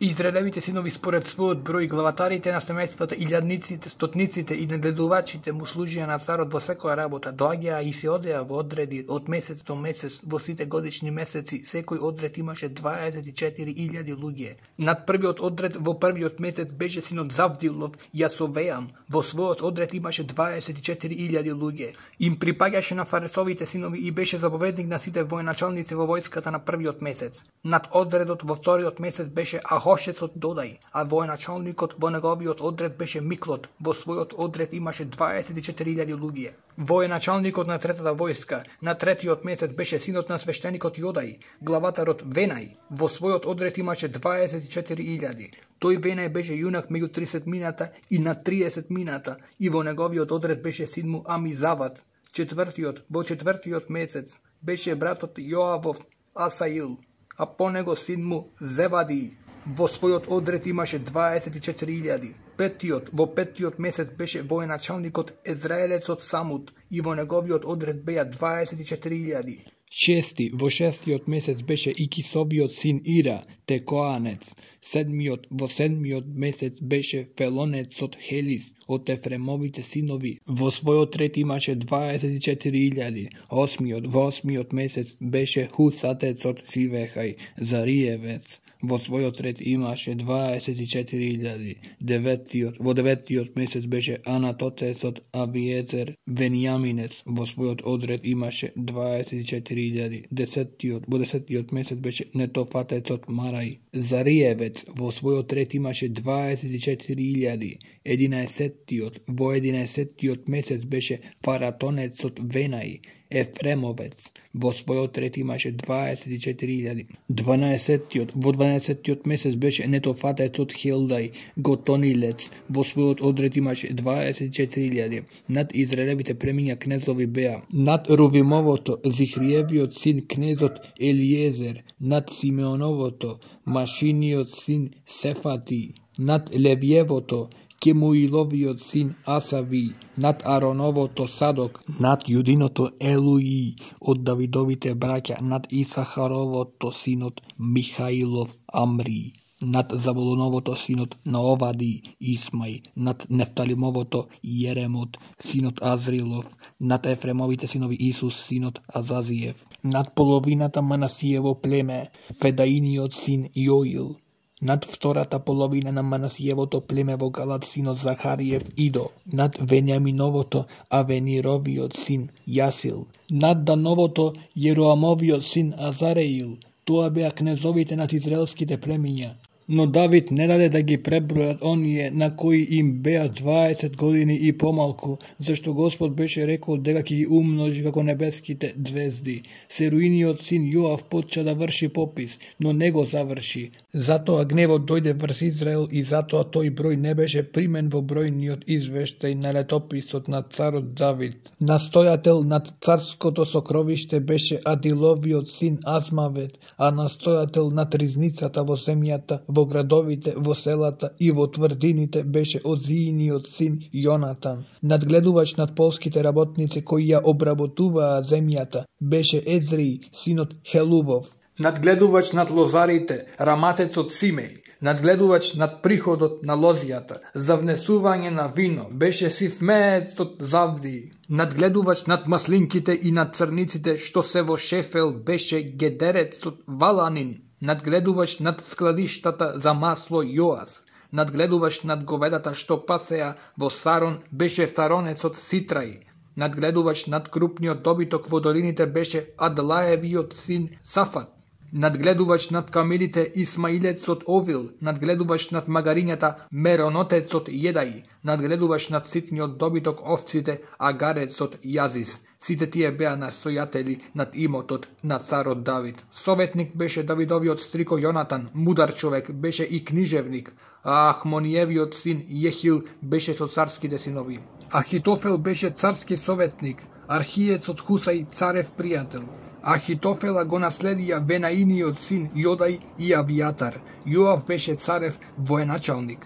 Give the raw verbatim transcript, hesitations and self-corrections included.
Израелевите синови според својот број, главатарите на семејствата, илјадниците, стотниците и нагледувачите му служија на царот во секоја работа, доаѓаа и се одеа во одреди од месец до месец, во сите годишни месеци, секој одред имаше дваесет и четири илјади луѓе. Над првиот одред во првиот месец беше синот Завдилов, Јасовеам, во својот одред имаше дваесет и четири илјади луѓе. Им припаѓаше на фаресовите синови и беше заповедник на сите военачалници во војската на првиот месец. Над одредот во вториот месец беше Ахошецот Додај, а военачалникот во неговиот одред беше Миклот, во својот одред имаше дваесет и четири илјади луѓе. Военачалникот на третата војска на третиот месец беше синот на свештеникот Јодај, главатарот Венај, во својот одред имаше дваесет и четири илјади. Тој Венај беше јунак меѓу тридесет мината и на триесет мината и во неговиот одред беше син му Амизават. Четвртиот, во четвртиот месец беше братот Јоавов Асаил, а по него син му Зевади. Во својот одред имаше дваесет и четири илјади. Петиот, во петиот месец беше военачалникот Езраелецот Самут и во неговиот одред беа дваесет и четири илјади. Шести, во шестиот месец беше Икисовиот син Ира, Текоанец. Седмиот, во седмиот месец беше Фелонецот Хелис од Ефремовите синови. Во својот ред имаше дваесет и четири илјади. Осмиот, во осмиот месец беше Хусатецот Сивехај, Зариевец. Во својот ред имаше дваесет и четири илјади. Деветиот, во деветиот месец беше Анатотецот Авиецер Венијаминец. Во својот одред имаше дваесет и четири илјади. Десетиот, во десетиот месец беше Нетофатецот Марај. Зариевец во својот ред имаше дваесет и четири илјади. Единаесеттиот, во единаесеттиот месец беше Фаратонецот Венај. Ефремовец во својот ред имаше дваесет и четири илјади. Дванаесеттиот, во дванаесеттиот месец беше Нетофатецот Хилдај, Готонилец, во својот одред имаше дваесет и четири илјади. Над Израелевите премиња кнезови беа: над Рувимовото Зихриевиот син кнезот Елиезер, над Симеоновото Машиниот син Сефати, над Левиевото Кемуиловиот син Асави, над Ароновото Садок, над Јудиното Елуи од Давидовите браќа, над Исахаровото синот Михаилов Амри, над Заволоновото синот Наовади Исмај, над Нефталимовото Јеремот синот Азрилов, над Ефремовите синови Исус синот Азазиев, над половината Манасиево племе Федаиниот син Јоил, над втората половина на Манасиевото племе во Галат синот Захариев Идо, над Венијаминовото Авенировиот син Јасил, над Дановото Јероамовиот син Азареил. Тоа беа кнезовите над израелските племиња. Но Давид не даде да ги пребројат оние на кои им беа дваесет години и помалку, зашто Господ беше рекол дека ќе ги умножи како небеските звезди. Серуиниот син Јоав почна да врши попис, но не го заврши. Затоа гневот дојде врз Израел и затоа тој број не беше примен во бројниот извештај на летописот на царот Давид. Настојател над царското сокровиште беше Адиловиот син Азмавет, а настојател над ризницата во земјата, во градовите, во селата и во тврдините беше Озииниот син Јонатан. Надгледувач над полските работници кои ја обработуваа земјата беше Езри, синот Хелувов. Надгледувач над лозарите, Раматецот Симеј. Надгледувач над приходот на лозијата, за внесување на вино, беше Сифмеецот Завди. Надгледувач над маслинките и над црниците, што се во Шефел, беше Гедерецот Валанин. Надгледувач над складиштата за масло Јоас. Надгледувач над говедата што пасеа во Сарон беше Саронецот Ситрај. Надгледувач над крупниот добиток во долините беше Адлаевиот син Сафат. Надгледувач над камилите Исмаилецот Овил, надгледувач над магарињата Меронотецот Једај, надгледувач над ситниот добиток овците Агарецот Јазис. Сите тие беа настојатели над имотот на царот Давид. Советник беше Давидовиот стрико Јонатан, мудар човек беше и книжевник, а Ахмониевиот син Јехил беше со царските синови. Ахитофел беше царски советник, Архиецот Хусај царев пријател. Ахитофела го наследија Венаиниот син Јодај и Авијатар. Јоав беше царев военачалник.